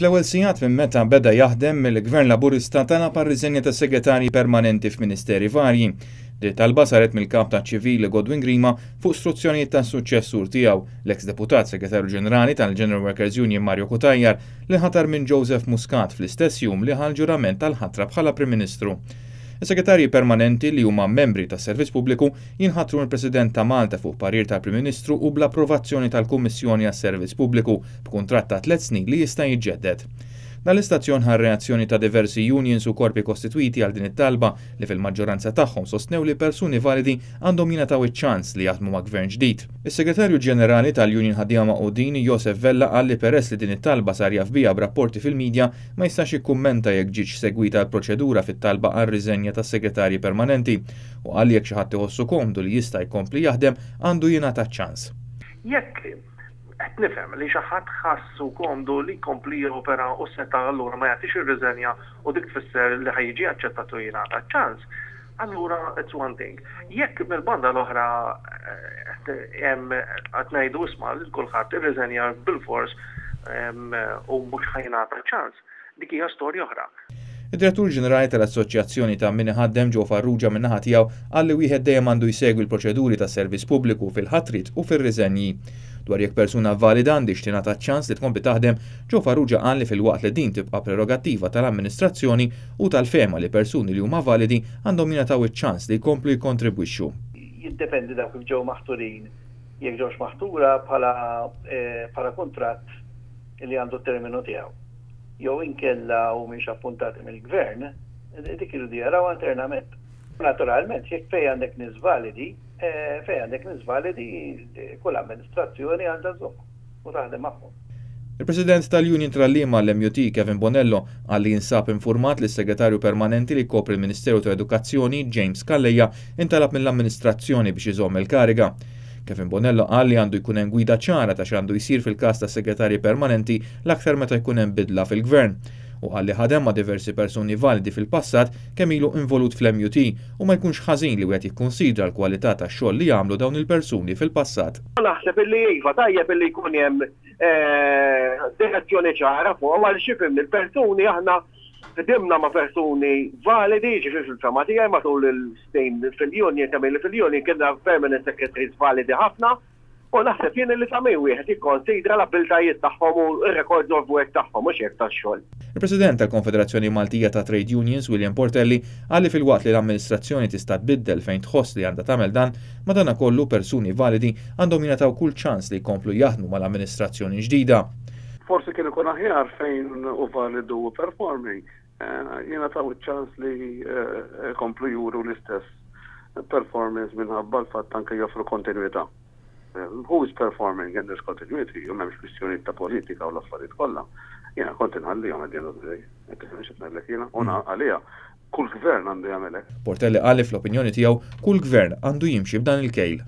Fl-ewwel sigħat minn meta beda jaħdem, il-Gvern Laburista talab għar-riżenja ta' segretarji permanenti f'ministeri varji. Din it-talba saret mill-Kap taċ-Ċivili Godwin Grima fuq struzzjonijiet tas-suċċessur tiegħu, l-eks Deputat Segretarju Ġenerali tal-General Workers Union Mario Cutajar li nħatar minn Joseph Muscat fl-istess jum li ħa l-ġurament tal-ħatra bħala Prim Ministru. Is-segretarji permanenti li huma membri tas-Servizz Pubbliku jinħatru mill-President ta' Malta fuq parir tal-Prim Ministru u bl-approvazzjoni tal-Kummissjoni għas-Servizz Pubbliku b'kuntratt ta' tlett snin li jista' jiġġedded. Dan l-istazzjon ħa r-reazzjoni ta' diversi unions u korpi kostitwiti għal din it-talba li fil-maġġoranza tagħhom sostnew li persuni validi għandhom jingħataw iċ-ċans li jaħdmu ma' Gvern ġdid. Is-Segretarju Ġenerali tal-Union Ħaddiema Magħqudin, Josef Vella qal li peress li din it-talba sar jaf biha b'rapporti fil-media, ma jistax jikkummenta jekk ġietx segwita l-proċedura fit-talba għar-riżenja tas-segretarji permanenti u qal li jekk xi ħadd iħossu komdu li jista' jkompli jaħdem għandu jingħata ċ-ċans. Jekk qed nifhem li xi ħadd ħassu komdu li jkompli jopera u seta' allura ma jagħtix ir-riżenja u dik tfisser li ħa jiġi aċċettat u jingħata ċ-ċans, allura it's one thing. Jekk mill-banda l-oħra hemm qed ngħidu isma' lil kulħadd irriżenja bilfors u mhux ħa jingħata ċ-ċans, dik hija storja oħra. Id-Direttur Ġenerali tal-Assoċjazzjoni ta' Min Iħaddem Joe Farrugia min-naħa tiegħu qal li wieħed dejjem għandu jsegwi l-proċeduri tas-servizz pubbliku fil-ħatriet u fir-riżenji. Dwar jekk persuna valida għandhiex tingħata ċ-ċans li tkompli taħdem, Joe Farrugia qal li filwaqt li din tibqa' prerogattiva tal-amministrazzjoni, hu tal-fehma li persuni li huma validi għandhom jingħataw iċ-ċans li jkomplu jikkontribwixxu. Jiddependi dawk kif ġew maħturin, jekk ġewx maħtura bħala bħala kuntratt li għandu t-terminu tiegħu. Jew inkella humiex appuntati mill-Gvern, dik iridu jarawha internament. Naturalment, jekk fejn għandek nies validi, fejn għandek nies validi, kull amministrazzjoni għandha żżommhom u taħdem magħhom. Il-President tal-Union tal-Għalliema l-MUT, Kevin Bonello, qal li jinsab infurmat li s-Segretarju Permanenti li jkopri l-Ministeru tal-Edukazzjoni, James Calleja, intalab mill-amministrazzjoni biex iżomm il-kariga. Kevin Bonello qal li għandu jkun hemm gwida ċara ta' x'għandu jsir fil-każ ta' segretarji permanenti l-aktar meta jkun hemm bidla fil-Gvern. Hu qal li ħadem ma' diversi persuni validi fil-passat kemm ilu involut fl-MUT u ma jkunx ħażin li wieħed jikkunsidra l-kwalità tax-xogħol li għamlu dawn il-persuni fil-passat. Naħseb illi iva, tajjeb illi jkun hemm direzzjoni ċara fuqhom għaliex ifhimni l-persuni aħna ħdimna ma' persuni validi, jiġifieri fil-fehma tiegħi matul il-snin fil-union kemm ili fil-union kienna permanent secretaries validi ħafna u naħseb jien li ta' min wieħed jikkonsidra l-abbiltajiet tagħhom u r-records of work tagħhom mhux hekk tax-xogħol. Il-President tal-Konfederazzjoni Maltija ta' Trade Unions, William Portelli, qal li filwaqt li l-amministrazzjoni tista' tbiddel fejn tħoss li għandha tagħmel dan, madanakollu persuni validi għandhom jingħataw kull ċans li jkomplu jaħdmu mal-amministrazzjoni ġdida. Forsi kien ikun aħjar fejn hu validu u performing, jingħataw iċ-ċans li jkomplu juru l-istess performance minħabba l-fatt anke joffru kontinwità. Who is performing and there's continuity u m'hemmx kwistjonijiet ta' politika u l-affarijiet kollha, jiena kont inħallihom at the end of the day. Qed tifhem x'qed ngħidlek jiena? U għalija kull gvern għandu jagħmel hekk. Portelli qal li fl-opinjoni tiegħu kull gvern għandu jimxi b'dan il-kejl.